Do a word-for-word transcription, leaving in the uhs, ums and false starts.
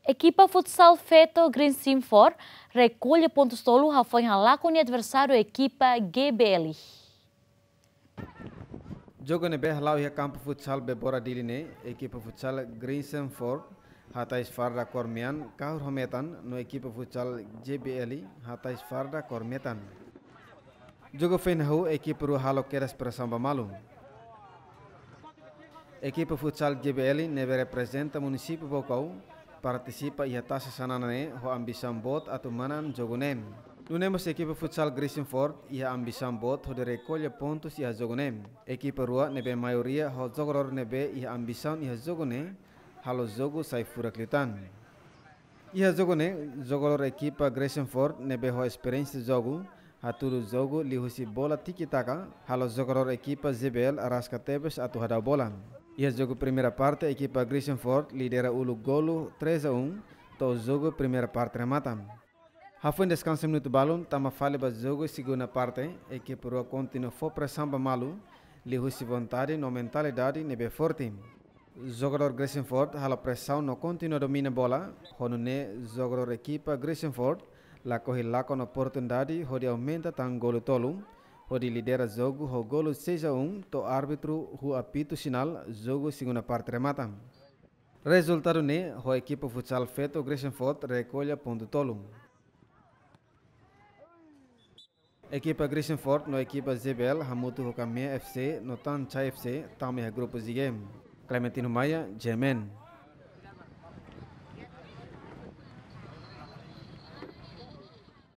Ekipa futsal feto Greisenford rekolla pontus tolu hafoin halakon nia adversáriu ekipa G B L. Jogu ne'ebé hala'o iha kampu futsal Bebora Dili ne'e, ekipa futsal Greisenford hatais farda kór mean kahur ho metan no ekipa futsal G B L hatais farda kór metan. Jogu foin hahú ekipa rua halo kedas presaun ba malu. Ekipa futsal G B L ne'ebé reprezenta munisípiu Baucau partisipa iha Taça Xanana ne'e ho ambisaun boot atu manán jogu ne'e. Nune'e mós ekipa futsal Greisenford iha ambisaun boot hodi rekolla pontus iha jogu ne'e. Ekipa rua ne'ebé maioria ho jogadór ne'ebé iha ambisaun iha jogu ne'e halo jogu sai furak liután. Iha jogu ne'e, jogadór ekipa Greisenford ne'ebé ho esperiénsia jogu, hatudu jogu liuhusi bola tiki-taka, halo jogadór ekipa G B L araska tebes atu hadau bola. Iha jogu primeira parte, ekipa Greisenford lidera uluk golu três a um, to'o jogu primeira parte remata. Hafoin deskansa minutu balun, tama fali ba jogu segunda parte, ekipa rua kontinua fó presaun ba malu, liuhusi vontade no mentalidade ne'ebé forte. Jogadór Greisenford halo presaun no kontinua domina bola, ho nune'e jogadór ekipa Greisenford lakohi lakon oportunidade hodi aumenta tan golu tolu, hodi lidera jogu ho golu seis a um, to'o árbitru huu apitu sinál jogu segunda parte remata. Rezultadu ne'e, ho ekipa futsal feto Greisenford rekolla pontu tolu. Ekipa Greisenford no ekipa G B L hamutuk ho Kamea F C no Tanchai F C tama iha grupu G. Clementino Maia, G M N.